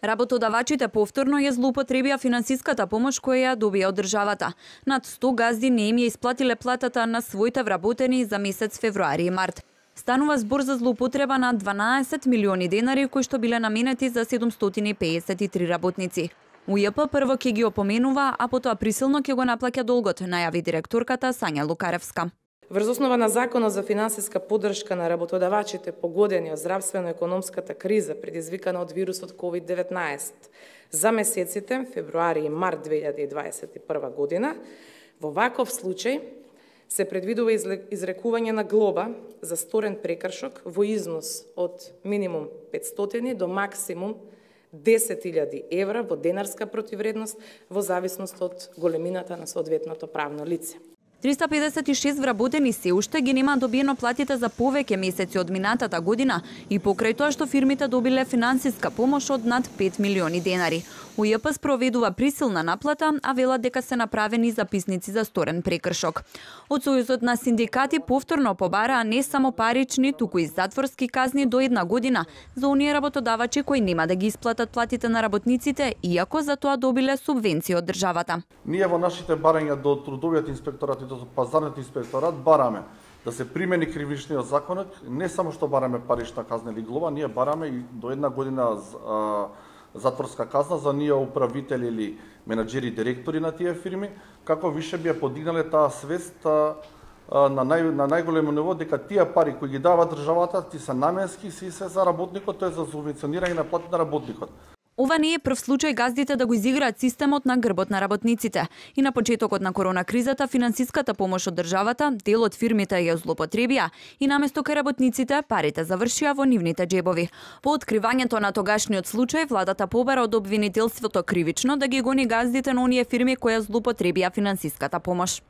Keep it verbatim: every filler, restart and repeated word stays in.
Работодавачите повторно ја злоупотребија финансиската помош која ја добија од државата. Над сто газди не им ја исплатиле платата на своите вработени за месец февруари и март. Станува збор за злоупотреба на дванаесет милиони денари кои што биле наменети за седумстотини и пеесет и три работници. УЈП прво ќе ги опоменува, а потоа присилно ќе го наплаќа долгот, најави директорката Сања Лукаревска. Врз основа на Законот за финансиска поддршка на работодавачите погодени од здравствено-економската криза предизвикана од вирусот ковид деветнаесет за месеците февруари и март две илјади и дваесет и прва година, во ваков случај се предвидува изрекување на глоба за сторен прекршок во износ од минимум петстотини до максимум десет илјади евра во денарска противредност во зависност од големината на соодветното правно лице. триста педесет и шест вработени се уште ги нема добиено платите за повеќе месеци од минатата година и покрај тоа што фирмите добиле финансиска помош од над пет милиони денари. УЈП спроведува присилна наплата, а велат дека се направени записници за сторен прекршок. Од Сојузот на синдикати повторно побараа не само парични, туку и затворски казни до една година за оние работодавачи кои нема да ги исплатат платите на работниците, иако за тоа добиле субвенции од државата. Ние во нашите барања до трудовиот инспекторат и до пазарниот инспекторат бараме да се примени кривичниот законот, не само што бараме парична казна или глоба, ние бараме и до една година а, затворска казна за ние управители или менаџери, директори на тие фирми, како више би ја подигнале таа свест а, на, нај, на најголемо ниво дека тие пари кои ги дава државата ти се наменски, си се за работникот, тоа е за субвенционирање на плати на работникот. Ова не е прв случај газдите да го изиграат системот на грбот на работниците. И на почетокот на корона кризата финансиската помош од државата, дел од фирмите ја злоупотребија и наместо кај работниците парите завршија во нивните џебови. По откривањето на тогашниот случај, владата побара од обвинителството кривично да ги гони газдите на оние фирми кои злоупотребија финансиската помош.